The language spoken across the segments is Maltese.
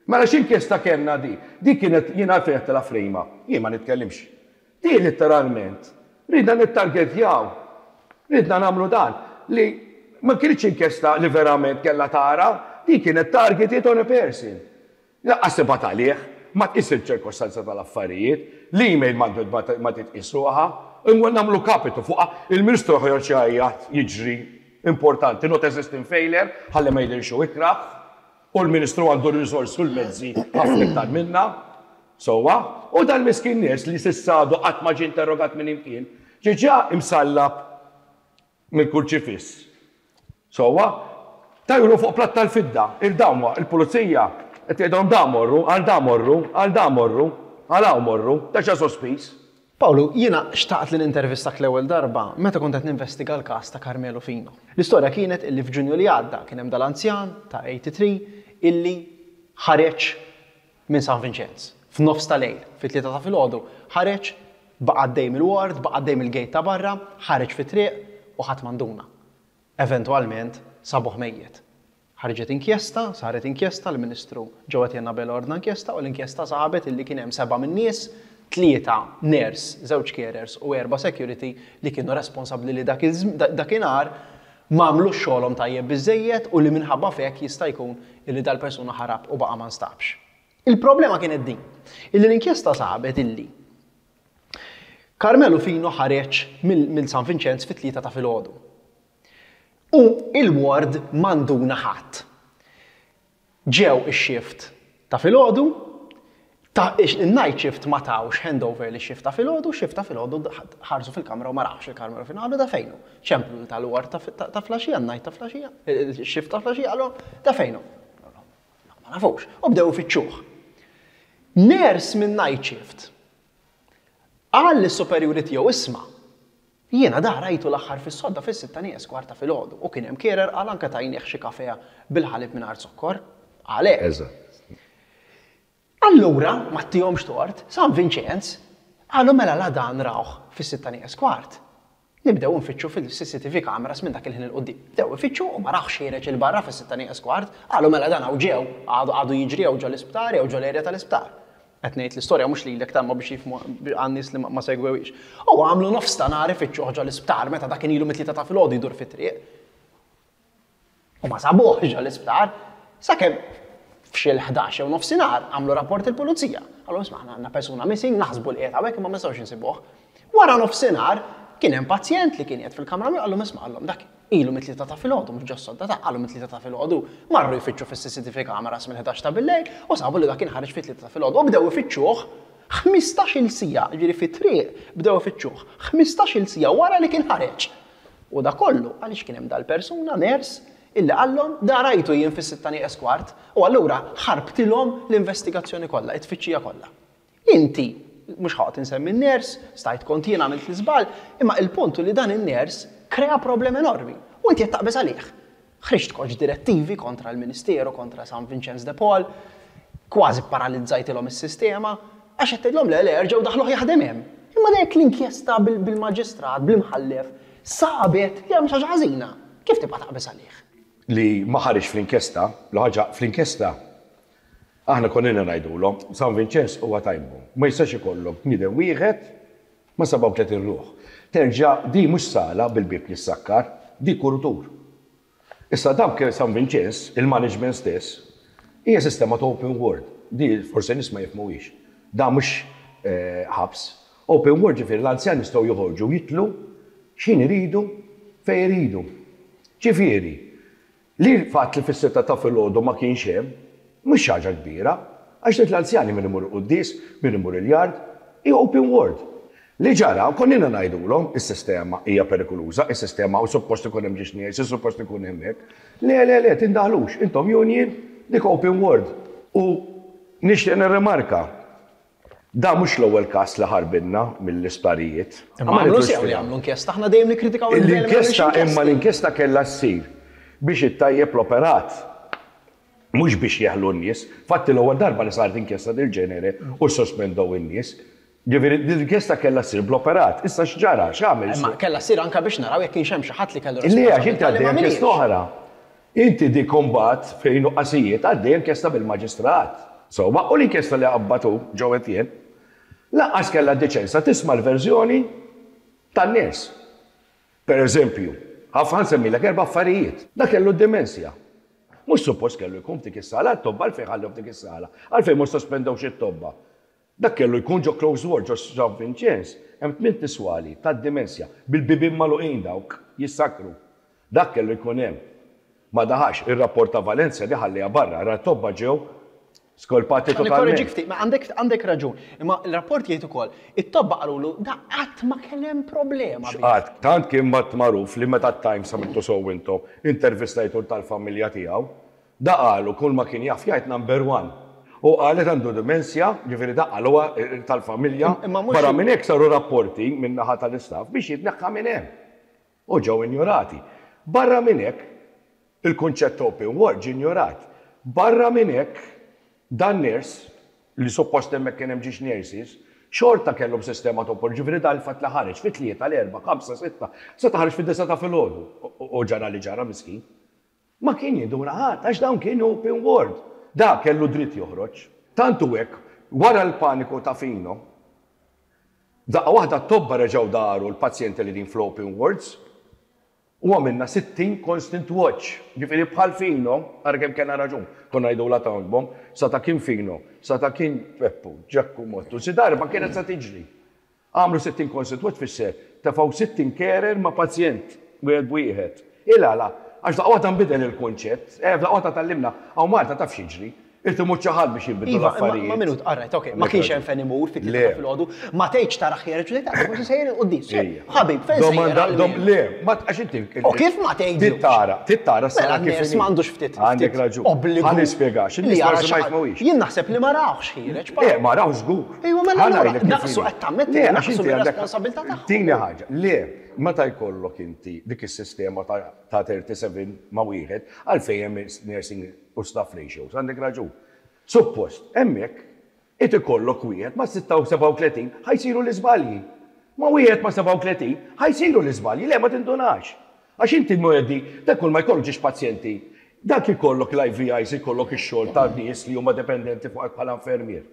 Mela x'inkjesta kellna di? Di kienet jien għalfejn għedtilha frame up. Jien ma nitkellimx. Di litteralment ridna nittargetjaw. Ridna nagħmlu dan li ma kinitx inkjesta li verament kellha tara, di kienet targeted on a person. Lanqas tibgħat għalih, ma tqis iċ-ċirkostanza tal-affarijiet, l-email m'għandu ma titqies ruħha, nagħmlu kapitu fuqha, il-Ministru joħroġ jgħajjat, jiġri, importanti, not a system failure, ħalli ma jidhirx hu ikrah, u l-Ministru għandu r-riżorsi u l-mezzi ħafna iktar minna, sewwa, u dal-miskin nies li s'issa għadu qatt ma ġie interrogat minn imkien, ġiġa imsallab mill-kurċifiss. Sewwa, tajru fuq platt tal-fidda, il-dawn il-pulizija qed jgħidilhom da morru, għal da morru, għal da morru, għal hawn morru, ta' xa sospiż. Pawlu, jiena xtaqt li nintervistak l-ewwel darba meta kont qed ninvestiga l-każ ta' Carmelo Fino. L-istorja kienet illi f'Ġunju li għadda kien hemm dal-anzjan ta' 83 illi ħareġ minn San Vinċenz f'nofs ta' lejl, fit-tlieta ta' filgħodu, ħareġ, baqa' għaddej mill-ward, baqa' għaddej mill-gate ta' barra, ħareġ fit-triq u ħadd ma nduna. Eventwalment sabuh mejjet. Ħarġet inkjesta, saret inkjesta, l-Ministru Joe Etienne Abela ordna inkjesta u l-inkjesta sabet illi kien hemm sebgħa min-nies, tlieta nurse, żewġ carers u erba' security li kienu responsabbli li dak dakinhar m'għamlux xogħolhom tajjeb biżżejjed u li minħabba f'hekk jista' jkun illi dal-persuna ħarab u baqa' ma nstabx. Il-problema kienet din, illi l-inkjesta sabet illi Carmelo Fino ħareġ minn San Vinċenz fit-tlieta ta' filgħodu. U il-ward ma nduna ħadd. Ġew ix-shift ta' filgħodu, ta' in-night shift ma tawx handover lix-shift ta' filgħodu, x-shift ta' filgħodu ħarsu fil-kamra u ma rawx il-Carmelo Fino, qalu da fejn hu? Ċemplu lil tal-ward ta' flaxija, n-night ta' flaxija, ix-shift ta' flaxija, qalu da fejn hu? Ma nafux. U bdew ifittxuh. Nurse minn night shift qal lis-superjuri tiegħu isma' Jiena da rajtu l-aħħar fis-sodda fis-sitta nieqes kwart ta' filgħodu u kien hemm carer qal anke tajnieh xi kafè bil-ħalib mingħajr zokkor. Qal hekk. Eżatt. Allura, ma ttihomx tort, San Vinċenz, qalu mela la dan rawh fis-sitta nieqes kwart, nibdew infittxu fil-CCTV cameras minn dak il-ħin 'il quddiem. Bdew ifittxu u ma rawhx ħiereġ 'il barra fis-sitta nieqes kwart, qalu mela dan hawn ġew, għadu għadu jiġri jew ġol-isptar jew ġol-area tal-isptar. Qed ngħid l-istorja mhux lilek ta' imma biex jifhmu għan-nies li ma segwewhiex. U għamlu nofs ta' nhar ifittxuh ġol-isptar meta dak kien ilu mit-tlieta ta' filgħodu jdur fit-triq. U ma sabuhx ġol-isptar sakemm f'xi l-ħdax jew nofsinhar għamlu rapport il-pulizija. Qalhom isma' aħna għandna persuna missing, naħsbu li qiegħed hawnhekk imma ma nistgħux insibuh. Wara nofsinhar kien hemm pazjent li kien qiegħed fil-kamra miegħu qalhom isma' qalhom dak Ilu mit-tlieta ta' filgħodu, mhux ġos-sodda ta' qalu mit-tlieta ta' filgħodu. Marru jfittxu fis-CCTV cameras mill-ħdax ta' billejl u sabu li dak kien ħareġ fit-tlieta ta' filgħodu u bdew ifittxuh ħmistax-il siegħa, jiġifieri fit-triq bdew ifittxuh ħmistax-il siegħa wara li kien ħareġ. U da kollu għaliex kien hemm dal-persuna, nurse, illi qallhom da rajtu jien fis-sitta nieqes kwart u allura ħarbtilhom l-investigazzjoni kollha, it-tfittxija kollha. Inti, mhux ħa noqgħod insemmi n-nurse, stajt kont jien għamilt l-iżball, imma il-punt hu li dan in-nurse krea problema enormi u inti qed taqbeż għalih. Ħriġt koċ direttivi kontra l-Ministeru, kontra San Vinċenz de Paul, kważi pparalizzajtilhom is-sistema, għax qed tgħidlhom le le erġgħu daħħluh jaħdem hemm. Imma jekk l-inkjesta bil-maġistrat, bl-imħallef, sabet li hemm xi ħaġa ħażina, kif tibqa' taqbeż għalih? Li ma ħariġx fl-inkjesta, l-ħaġa fl-inkjesta Aħna konna ilna ngħidulhom, San Vinċenz huwa time bomb. Ma jistax ikollok bniedem wieħed ma' 37 ruħ. Terġa' di mhux sala bil-bieb li ssakkar, di kurutur. Issa dawk San Vinċenz, il-management stess, hija sistema ta' open ward. Di forsi nies ma jifhmuhiex. Dan mhux ħabs. Open ward ġifieri l-anzjani jistgħu joħorġu u jidħlu x'ħin iridu, fejn iridu. Ġifieri, Li l-fatt li fis-sitta ta' filgħodu ma kienx hemm, mhux xi ħaġa kbira, għax tgħid l-anzjani min imur il-quddies, min imur il-yard, hi open ward. Li ġara, konna ilna ngħidulhom, is-sistema hija perikoluża, is-sistema u suppost ikun hemm ġiex nies, suppost ikun hemm hekk. Le, le, le, tindaħlux, intom union, dik open ward. U nixtieq nirrimarka, Dan mhux l-ewwel każ li ħarbilna mill-isptarijiet. Imma għamlu sew li għamlu inkjesta, aħna dejjem nikkritikaw il-gvern li ma jagħmilx inkjesti. Imma l-inkjesta kellha ssir biex ittejjeb l-operat, mhux biex jeħlu n-nies. Fatti l-ewwel darba li saret inkjesta dil-ġenere u ssospendew in-nies. Ġifieri din l-inkjesta kellha ssir bl-operat. Issa x'ġara? X'għamel? Imma kellha ssir anke biex naraw jekk kienx hemm xi ħadd li kellu responsabbiltà li ma għamilhiex. Le, għax inti għaddejja inkjesta oħra. Inti dik imbagħad fejn nuqqasijiet għaddejja inkjesta bil-maġistrat. Sewwa, u l-inkjesta li qabbad hu, Joe Etienne, lanqas kellha d-diċenza tisma' l-verżjoni tan-nies. Per eżempju, ħa nsemmilek erba' affarijiet. Dak kellu d-dimensja. Mhux suppost kellu jkun f'dik is-sala, t-tobba għalfejn ħallew f'dik is-sala? Għalfejn ma ssospendewx it-tobba? Dak kellu jkun ġo closed ward ġo San Vinċenz, hemm tmint iswali tad-dimensja, bil-bibien magħluqin dawk, jissakkru. Dak kellu jkun hemm. Ma daħalx. Ir-rapport ta' Valencia di ħalliha barra, ra t-tobba ġew skolpati totalment. Nikkoreġik ftit, ma għandek għandek raġun. Imma l-rapport jgħid ukoll, it-tobba qalulu da qatt ma kien hemm problema bih. X'qatt? Tant kien mat magħruf li meta t-Times għamiltu sew intom, intervistajtu tal-familja tiegħu, da qalu kull ma kien jaf jgħid number one. U qalet għandu dimensja, ġifieri da qaluha tal-familja. Barra minn hekk saru rapporti min-naħa tal-istaff biex jitneħħa minn hemm. U ġew injorati. Barra minn hekk, il-kunċett ta' open war ġie injorat. Barra minn hekk, dan nurse, li suppost hemmhekk kien hemm ġiex nurses, xorta kellhom sistema ta' open, ġifieri dan il-fatt li ħareġ fit-tlieta, l-erbgħa, ħamsa, sitta, seta' ħareġ fid-disgħa ta' filgħodu u ġara li ġara miskin. Ma kien jinduna ħadd għax dawn kienu open ward. Da kellu dritt joħroġ. Tant hu hekk, wara l-paniku ta' Fino, F'daqqa waħda t-tobba reġgħu daru l-pazjenti li qegħdin fl-open wards u għamilna 60 constant watch. Ġifieri bħal Fino, ara kemm kellna raġun, konna ngħidulha town bomb, sa ta' kien Fino, sa ta' kien Peppu, Ġakku Mottu, xi darba kienet sa tiġri. Għamlu 60 constant watch tfisser tefgħu 60 carer ma' pazjent wieħed b'wieħed. Il-għala? Għax f'daqqa waħda nbidel il-kunċett. Eh, f'daqqa waħda tgħallimna, hawn Malta taf x'jiġri. Irid imut xi ħadd biex jinbidlu l-affarijiet. Iva, ma minut, all right, ok, ma kienx hemm fejn imur fit-tlieta ta' filgħodu, ma tgħidx tara ħiereġ u tgħid ara forsi sejjer il-quddies. Ħabib, fejn sejjer? Le, ma għax inti. U kif ma tgħidlux? Tittara, tittara s-sala kif. Mela m'għandux ftit. Għandek raġun. Obbligu. Ħa nispjegax, in-nies forsi ma jifhmuhiex. Jien naħseb li ma rawhx ħiereġ. Le, ma rawhx żgur. Ejwa, mela allura naqsu qed tammetti li naqsu mir-responsabilità tagħhom. Tieni ħaġa, le, meta jkollok inti dik is-sistema ta' 37 ma' wieħed, għalfejn hemm nursing u staff ratios, għandek raġun. Suppost, hemmhekk, int ikollok wieħed ma' 36 ħa jsiru l-iżbalji. Ma' wieħed ma' 37 ħa jsiru l-iżbalji, le ma tindunax. Għax inti mwegħdi, dak kull ma jkollok ġiex pazjenti, dak ikollok l-IVIs, ikollok ix-xogħol ta' nies li huma dependenti fuqek bħala infermier.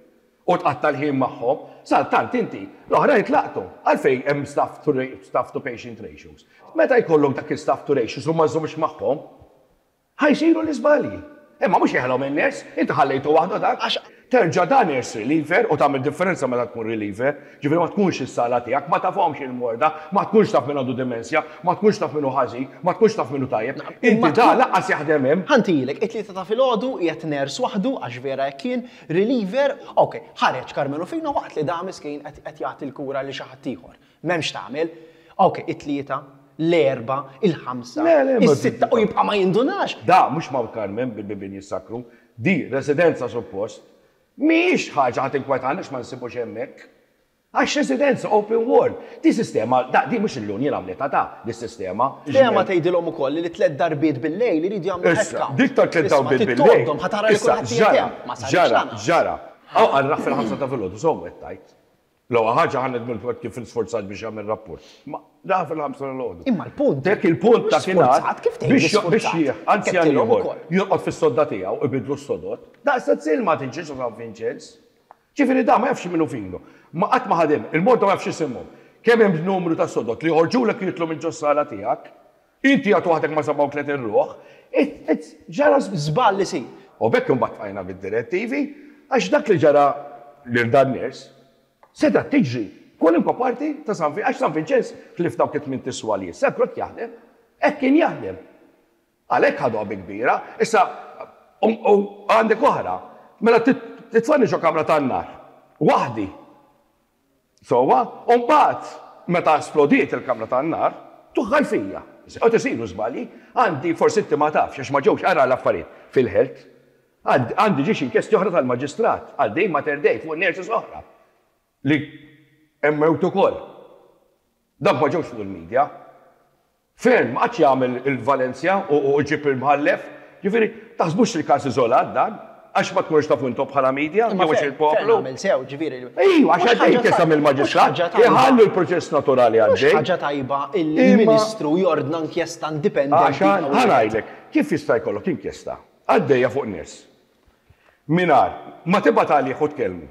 U tqatta' l-ħin magħhom, saltant inti, l-oħrajn tlaqtu. Għalfejn hemm staff to staff to patient ratios? Meta jkollok dak il-staff to ratios u ma żżommx magħhom, Ħa jsiru l-iżbalji. Imma mhux jeħilhom in-nurse, inti ħallejtu waħdu dak. Għax terġa' da nurse reliever u tagħmel differenza meta tkun reliever, ġifieri ma tkunx is-sala tiegħek, ma tafhomx il-morda, ma tkunx taf min għandu dimensja, ma tkunx taf min hu ħażin, ma tkunx taf min hu tajjeb. Inti da lanqas jaħdem hemm. Ħa ntilek, it-Tlieta ta' filgħodu qiegħed nurse waħdu, għax vera hekk kien, reliever, ok, ħareġ Karmenu Fino waqt li da miskin qed jagħti l-kura lil xi ħadd ieħor. M'hemmx x'tagħmel. Ok, it-Tlieta, l-Erbgħa, il-Ħamsa, is-Sitta u jibqa' ma jindunax. Da mhux Mount Carmen bil-bibien jissakru. Di residenza suppost. Mhijiex ħaġa ħa tinkwetana għax ma nsibux hemmhekk. Għax residenza open ward. Di sistema, da di mhux il-union għamlitha ta' dis-sistema. Tema tgħidilhom ukoll li tliet darbiet bil-lejl iridu jagħmlu head count. Dik ta' tliet darbiet bil-lejl. Tgħoddhom ħa tara li kulħadd qiegħed hemm. Ma saritx lanqas. Ġara, ġara. Hawn qal rah fil-ħamsa ta' filgħodu, sew qed tgħid. L-ewwel ħaġa ħa nidmu l-fatt kif sforzat biex jagħmel rapport. Ma daħal fil-ħamsa filgħodu. Imma l-punt. Dak il-punt ta' kien kif tgħid biex jieħ anzjan ieħor jorqod fis-sodda tiegħu ibiddlu s-sodod. Daqs zil ma tiġix San Vinċenz. Ġifieri da ma jafx minnu finu. Ma qatt ma ħadem, il-morda ma jafx isimhom. Kemm hemm numru ta' sodod li joħorġulek jitlu minn ġos-sala tiegħek, inti għad waħdek ma' 37 ruħ, ġara żball isir. U b'hekk imbagħad bqajna bid-direttivi, għax dak li ġara lil dan nurse, setgħet tiġri kwalunkwe parti ta' San Vinċenz, għax San Vinċenz ħlief dawk it-tmint iswal li jissakru hekk jaħdem, hekk kien jaħdem. Għalhekk ħaduha bi kbira. Issa, u għandek oħra, mela titfagħni ġo kamra tan-nar, waħdi. Sewwa, u mbagħad meta splodiet il-kamra tan-nar, tuħħal fija. Qed isiru żbalji, għandi forsi inti ma tafx għax ma ġewx ara l-affarijiet fil-health. Għandi ġiex inkjesti oħra tal-maġistrat għaddej Mater Dei fuq nurses oħra li hemm mewt ukoll. Dawk ma ġewx fuq il-media. Fearne ma qagħadx jagħmel il-Valencia u jġib il-mħallef. Ġifieri, taħsbux li każ iżolat dan, għax ma tkunux tafu intom bħala media jew għax il-poplu. Fearne għamel sew, ġifieri. Ejwa, għax għaddej inkjesta mill-maġistrat, iħallu l-proċess naturali għaddej. Mhux ħaġa tajba illi l-Ministru jordna inkjesta indipendenti. Għax, ħa ngħidlek, kif jista' jkollok inkjesta għaddejja fuq nies? Mingħajr ma tibgħat għalih u tkellmu.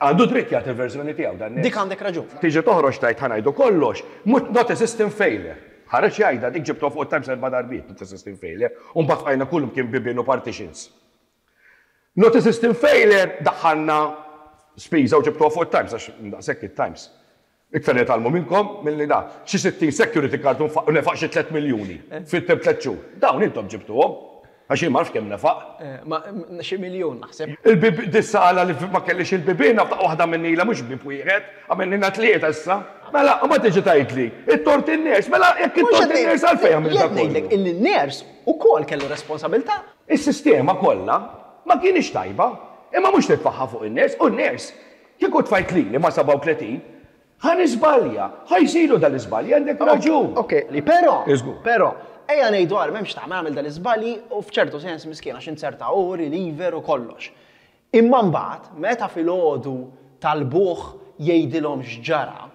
Għandu dritt jagħti l-verżjoni tiegħu dan Dik għandek raġun. Tiġi toħroġ tgħid ħa ngħidu kollox, not a system failure. Ħareġ jgħidha dik ġibtuha fuq it-Times erba' darbiet, not a system failure, u mbagħad bqajna kullimkien bibien u partitions. Not a system failure daħħalna spiża u ġibtuha fuq it-Times għax daqshekk it-Times. Iktar nitgħallmu minnkom milli da. Xi 60 security card u nefaq xi 3 miljuni fit-temp tliet xhur. Dawn intom ġibtuhom. Għax jien ma nafx kemm nefaq. Ma xi miljun naħseb. Il-bib dissa qala li ma kellix il-bibien f'daqqa waħda għamilnilha mhux bieb wieħed, għamilnilha tlieta issa. Mela, u ma tiġi tgħidli, it-tort in-nurse, mela jekk it-tort in-nurse għalfejn għamilt dak kollu? Jien ngħidlek illi n-nurse ukoll kellu responsabilità. Is-sistema kollha ma kinitx tajba, imma mhux titfagħha fuq in-nurse, u n-nurse Kieku tfajt lili ma' 37, ħa niżbalja, ħa jsiru dal-iżbalji, għandek raġun. Ok, però, però, ejja ngħidu ara m'hemmx x'tagħmel għamel dal-iżbalji u f'ċertu sens miskin għax inzerta hu reliever u kollox. Imma mbagħad meta filgħodu talbuh jgħidilhom x'ġara,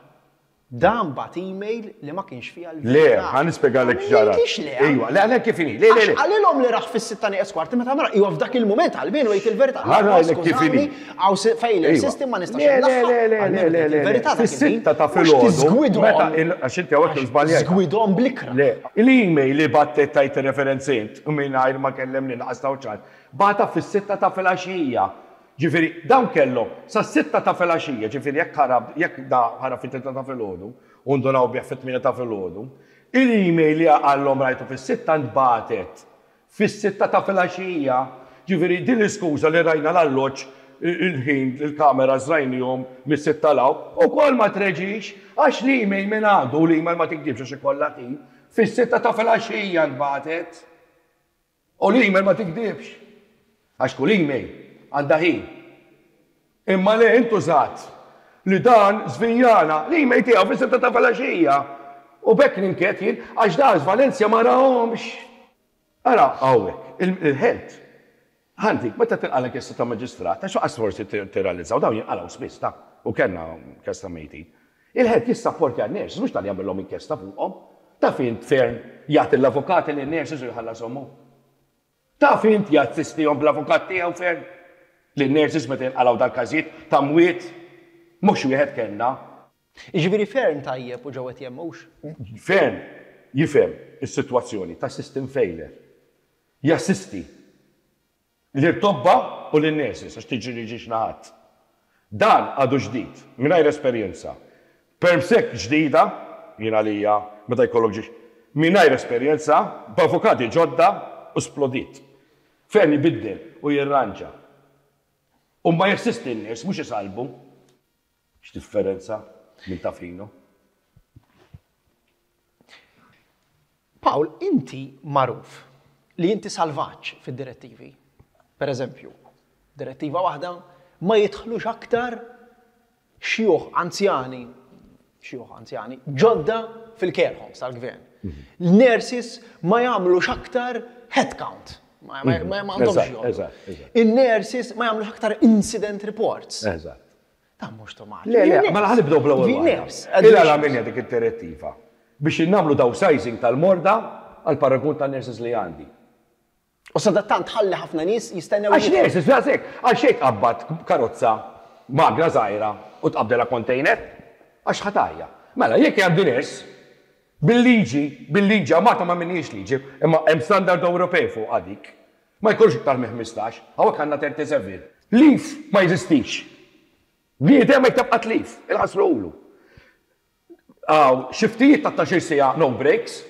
Dan bagħat email li ma kienx fiha l-verità. Le, ħa nispjegalek x'ġara. Ma ngħidlix le. Ejwa, le għalhekk kif inhi. Le, le, le. Għax qalilhom li rah fis-sitta nieqes kwart meta ma iwa f'dak il-mument għalbienu jgħid il-verità. Ħa ngħidlek kif inhi. Hawn failure system ma nistax Le, le, le, le, le, le, le. Il-verità dak Fis-sitta ta' filgħodu. Meta għax inti hawnhekk żbaljajt. Żgwidhom bl-ikra. Le, l-email li bagħtet tgħid ir-referenzi int u mingħajr ma kellemni lanqas taw ċans, bagħatha fis-sitta ta' filgħaxija. Ġifieri, dawn kellhom sas-sitta ta' filgħaxija, ġifieri jekk ħarab, jekk da ħarab fit-tlieta ta' filgħodu u ndunaw bih fit-tmienja ta' filgħodu, il-email li qallhom rajtu fis-sitta ntbagħtet fis-sitta ta' filgħaxija. Ġifieri din l-iskuża li rajna l-alloġġ, il-ħin, il-kameras rajnihom mis-sitta 'l hawn, ukoll ma treġix għax l-email minn għandu, u l-email ma tikdibx għax ikollha ħin, fis-sitta ta' filgħaxija ntbagħtet. U l-email ma tigdibx. Għax kull email għandha ħin. Imma le intużat li dan żvijjana l-email tiegħu fis-sitta ta' filgħaxija. U b'hekk ninkedd jien għax dan Valencia ma rahomx. Ara hawnhekk, il-health. Ħa ntik, meta tinqala' inkjesta ta' maġistrat, għax lanqas forsi tirrealizzaw, dawn jinqalgħu spiss ta' u kellna każ ta' mejtin. Il-health jissapportja n-nurses, mhux talli jagħmilhom inkjesta fuqhom. Taf int Fearne jagħti l-avukati lin-nurses u jħallashom hu? Taf int jassistihom bl-avukat tiegħu Fearne? Lin-nurses meta jinqalgħu dal-każijiet ta' mwiet? Mhux wieħed kellna. Jiġifieri Fearne tajjeb u Joe Etienne mhux? Fearne jifhem is-sitwazzjoni ta' system failure. Jassisti lir-tobba u lin-nurses għax tiġri ġiex naħat. Dan għadu ġdid, mingħajr esperjenza. Permsec ġdida, jien għalija meta jkollok ġiex mingħajr esperjenza, b'avukati ġodda u splodiet. Fearne ibiddel u jirranġa. U ma jassisti n-nies, mhux isallbu. X'differenza minn ta' Fino. Paul, inti magħruf li inti salvaġġ fid-direttivi. Per eżempju, direttiva waħda ma jidħlux aktar xjuħ anzjani, xjuħ anzjani, ġodda fil-care homes tal-gvern. L-nurses ma jagħmlux aktar head count. Ma għandhomx jgħodu. In-nurses ma jagħmlux aktar incident reports. Eżatt. Dan mhux tomat. Le, le, mela ħa nibdew bl-ewwel waħda. Il-għala minja dik id-direttiva biex innagħmlu downsizing tal-morda għal paragun tan-nurses li għandi. U sadattant tħalli ħafna nies jistennew. Għax nurses, daqshekk, għal xejn tqabbad karozza magna żgħira u tqabbdilha container, għax ħa tgħajja. Mela, jekk għandi nurse, bil-liġi, bil-liġi, għax Malta ma minhiex liġi, imma hemm standard Ewropej fuqha dik, ma jkunx iktar minn 15, hawnhekk għandna 37. Leave ma jeżistix. Bniedem ma jtebqa' leave, inħassruhulu. Hawn xiftijiet ta' 12-il siegħa no breaks,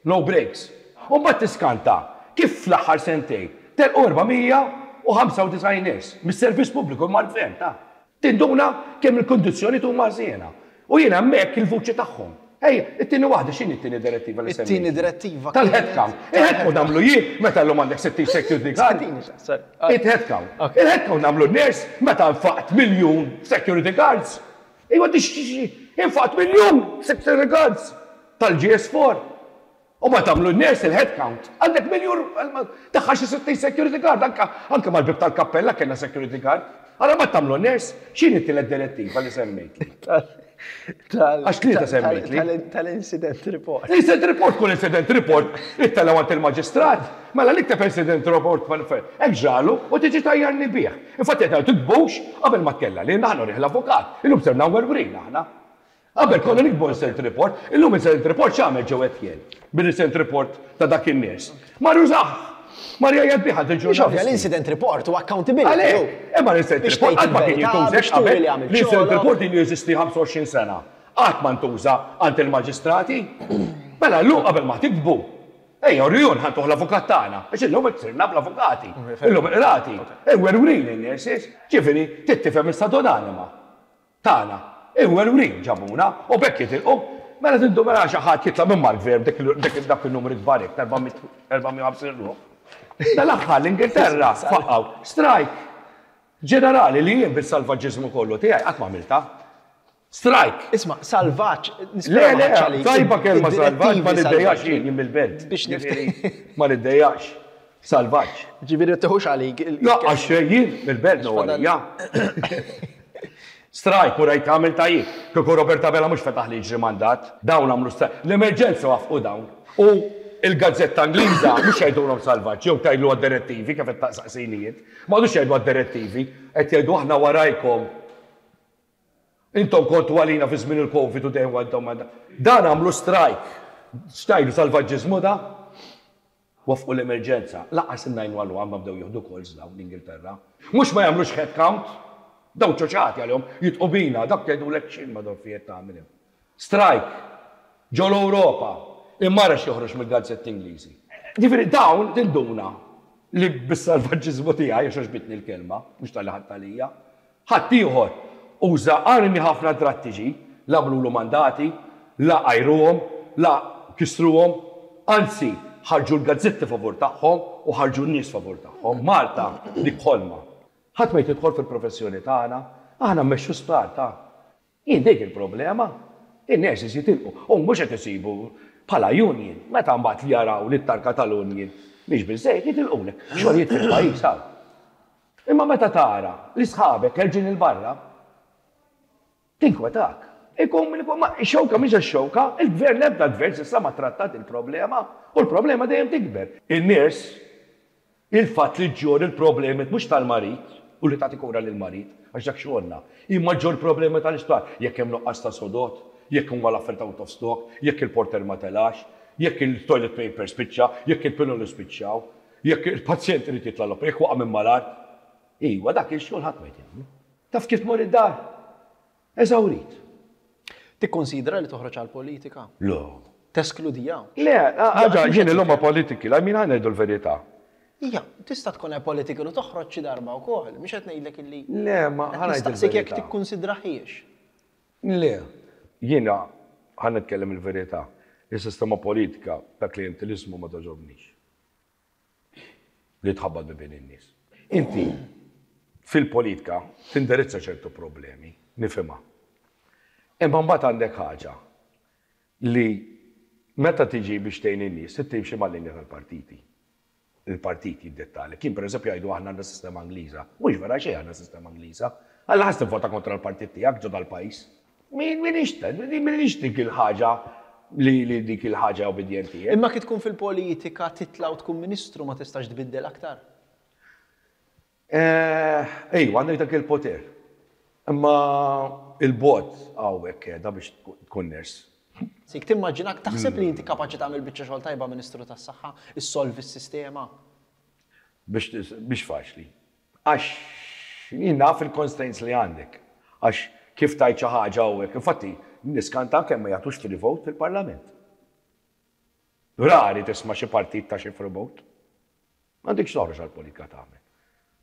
no breaks. U mbagħad tiskanta kif fl-aħħar sentejn telqu 495 nurse mis-servizz pubbliku imma l-gvern ta. Tinduna kemm il-kundizzjonijiet huma ħżiena. U jiena hemmhekk il-vuċi tagħhom. Ejja, it-tieni waħda, x'inhi t-tieni direttiva li semmejt? It-tieni direttiva kienet. Tal-head count. Il-head count nagħmlu jien meta llum għandek 60 security guard. Sorry. Il-head count. Il-head count nagħmlu n-nurse meta nfaqt miljun security guards. Ejwa infaqt miljun security guards tal-GS4. U ma tagħmlu n-nurse il-head count. Għandek miljun daħħal xi 60 security guard anke anke mal-bieb tal-kappella kellna security guard. Ara ma tagħmlu n-nurse, x'inhi t-tielet direttiva li semmejt? Għax tlieta semmejtli. Tal-incident report. L-incident report kull incident report ittellgħu għand il-maġistrat. Mela li kteb incident report hekk ġralu u tiġi tajjarni bih. Infatti qed tiktbux qabel ma tkella li aħna rih l-avukat. Illum sirna werwrin aħna. Qabel konna niktbu incident report, illum incident report x'għamel Joe Etienne bil-incident report ta' dak in-nies? Mar jużah! Mar jgħajjat bih għand il-ġurnalisti. Mhux ovvja, l-incident report huwa accountability. Għalhekk, imma l-incident report qatt ma kien jintuża hekk qabel. L-incident report ilu jeżisti 25 sena. Qatt ma ntuża għand il-maġistrati. Mela llum qabel ma tiktbu, ejja urihun ħa ntuh l-avukat tagħna. Għax illum qed sirna bl-avukati. Illum il-qrati. Iwerwrin in-nurses. Ġifieri, trid tifhem issa donanima. Tagħna. Imwerwrin ġabuna u b'hekk jitilqu. Mela tindu mela xi ħadd jitla' minn mal-gvern b'dik dak in-numri kbar hekk ta' 450 ruħ. Dal-aħħar l-Ingilterra faqqgħu strajk ġenerali li jien bis-salvaġġiżmu kollu tiegħi qatt ma għamiltha. Strajk! Isma' salvaġġ, Le, le, tajba kelma salvaġġ, ma niddejjaqx jien, jien mill-belt. Biex nifti. Ma niddejjaqx. Salvaġġ. Ġifieri tiħux għalik. Laqqas xejn jien mill-belt no għalija. Strajk u rajt għamil tajjeb. Kieku Robert Abela mhux fetaħ li jiġri mandat. Dawn għamlu strajk. L-emerġenza waffqu dawn. U il-gazzetta Ingliża mhux jgħidulhom salvaġġ jew tgħidlu għad-direttivi kif qed taqsaqsini int. M'għadux jgħidu għad-direttivi, qed jgħidu aħna warajkom. Intom kontu għalina fi żmien il-Covid u dejjem intom Dan għamlu strajk. X'tgħidu salvaġġiżmu da? Waffqu l-emerġenza. Lanqas in-911 ma bdew jieħdu calls dawn l-Ingilterra. Mhux ma jagħmlux head count. Dawn ċoċati għalihom, jidqu bina, dak jgħidulek x'in madwar fi qed tagħmel hemm. Strajk. Ġo l-Ewropa. Imma ara x'joħroġ mill-gazzetti Ingliżi. Ġifieri dawn tinduna li bis-salvaġġiżmu tiegħi, għax għoġbitni l-kelma, mhux talli ħadt għalija, Ħaddieħor uża armi ħafna drattiċi, la għamlulu mandati, la għajruhom, la kissruhom, anzi ħarġu l-gazzetti favur tagħhom u ħarġu n-nies favur tagħhom. Malta dik ħolma. Ħadd ma jrid jidħol fil-professjoni tagħna, aħna mmexxu sptar ta'. Hi dik il-problema. In-nurses jitilqu u mhux qed isibu bħala union. Meta mbagħad jaraw li t-tarka tal-union mhix biżżejjed jitilqulek. Xogħlijiet fil-pajjiż hawn. Imma meta tara li sħabek ħerġin 'il barra, tinkwetak. Ikun min ikun, ma x-xewka mhix għax-xewka, il-gvern l-ebda gvern s'issa ma trattat il-problema u l-problema dejjem tikber. In-nies, il-fatt li ġġorr il-problemi mhux tal-marid u li tagħti kura lill-marid, għax dak xogħolna, imma ġġorr problemi tal-isptar, jekk hemm nuqqas ta' sodod, jekk huma l-affarijiet out of stock, jekk il-porter ma telax, jekk il-toilet paper spiċċa, jekk il-piloli spiċċaw. Jekk il-pazjent irid jitla' l-opra, jekk waqa' minn mal-art, iwa dak ix-xogħol ħadd ma jrid jagħmlu. Taf kif tmur id-dar? Eżawrit. Tikkunsidra li toħroġ għall-politika? Le. Teskludiha? Le, ħaġa, jien illum apolitical, I mean ħa ngħidu l-verità. Ija, tista' tkun apolitical u toħroġ xi darba wkoll, mhux qed ngħidlek illi. Le, ma ħa ngħid il-verità. Nistaqsik jekk tikkunsidrahiex. Le. Jiena, ħa nitkellem il-verità, is-sistema politika ta' klijenteliżmu ma togħġobnix. Li tħabbat bibien in-nies. Inti fil-politika tindirizza ċertu problemi, nifhimha. Imma mbagħad għandek ħaġa li meta tiġi biex tgħin in-nies trid timxi mal-linja tal-partiti. Il-partit jiddettalek. Jien pereżempju jgħidu aħna għandna sistema Ingliża. Mhux vera xejn għandna sistema Ingliża. Alla ħass tivvota kontra l-partit tiegħek ġo dal-pajjiż. M'iniex m'iniex dik il-ħaġa li li dik il-ħaġa obbedjenti. Imma kif tkun fil-politika titla' u tkun ministru ma tistax tbiddel aktar? Ejwa, għandek dak il-poter. Imma il-bogħod hawnhekk qiegħda biex tkun nurse. Sik timmaġinak, taħseb li inti kapaċi tagħmel biċċa xogħol tajba Ministru tas-Saħħa, issolvi s-sistema? Biex biex faċli. Għax jien naf il-constraints li għandek. Għax kif tgħid xi ħaġa u hekk, infatti niskanta kemm ma jagħtux free vote fil-Parlament. Rari tisma' xi partit ta xi free vote. M'għandekx toħroġ għall-politika tagħmel.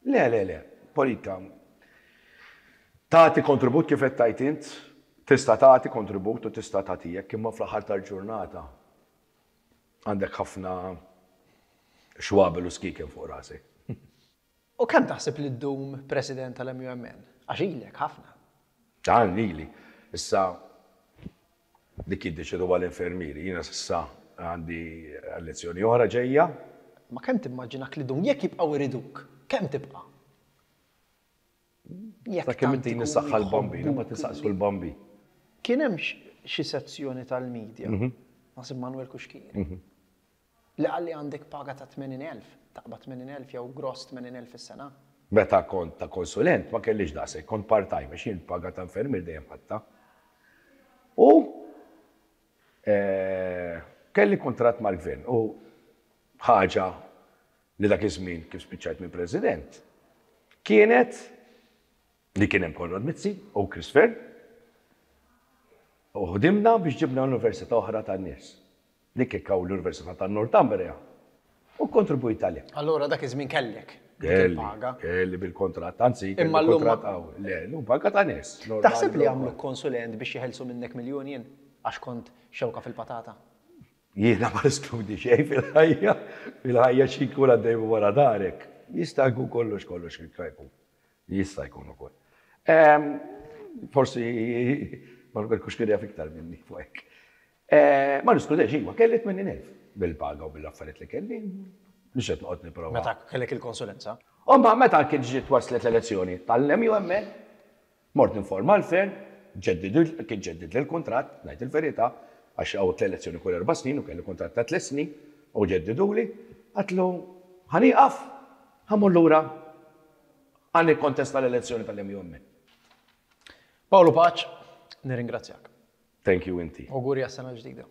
Le, le, le, politika tagħti kontribut kif qed tgħid int, tista' tagħti kontribut u tista' tagħti hekk, imma fl-aħħar tal-ġurnata għandek ħafna xwabel u skieken fuq rasek. U kemm taħseb li ddum President tal-MUMN? Għax ilek ħafna. Dan ili. Issa dik jiddeċiduha l-infermieri. Jiena s'issa għandi elezzjoni oħra ġejja. Ma kemm timmaġinak li ddum? Jekk jibqgħu jriduk, kemm tibqa'? Jekk Sakemm ittini s-saħħa l-Bambin, imbagħad insaqsu l-Bambin. Kien hemm xi sezzjoni tal-media, naħseb Manuel Cuschieri, li qal li għandek paga ta' 80,000, taqbad 80,000 jew gross 80,000 fis-sena. Meta kont ta' konsulent ma kellix daqshekk, kont part-time għax jien paga ta' infermier dejjem ħadtha. U kelli kuntratt mal-gvern u ħaġa li dak iż-żmien kif spiċċajt minn President kienet li kien hemm Konrad Mizzi u Chris Fearne u ħdimna biex ġibna università oħra tan-nies. Dik kien hawn l-Università ta' Northumbria u kkontribwejt għalih. Allura dak iż-żmien kellek dik il-paga? Kelli bil-kontratt, anzi kelli kuntratt qawwi. Le, llum paga ta' nies. Taħseb li għamluk konsulent biex jeħilsu minnek mill-union għax kont xewka fil-patata? Jiena ma neskludi xejn fil-ħajja, fil-ħajja xi jkun għaddej minn wara darek. Jista' jkun kollox kollox jista' jkun. Jista' jkun ukoll. Forsi Manuel Cuschieri jaf iktar minni fuq hekk. Ma niskludejx, iva, kelli 80,000 bil-paga u bil-affarijiet li kelli, mhux qed noqgħod nipprova. Meta kellek il-konsulenza? U mbagħad meta kien ġiet waslet l-elezzjoni tal-MUMN, mort ninforma l-Fearne, kien ġeddidli l-kuntratt, ngħid il-verità, għax hawn l-elezzjoni kull erba' snin u kelli kuntratt ta' tliet snin, u ġeddiduli, għedtlu ħa nieqaf, ħa mmur lura ħa nikkontesta l-elezzjoni tal-MUMN. Paolo Pace, nirringrazzjak. Thank you inti. Awguri għas-sena l-ġdida.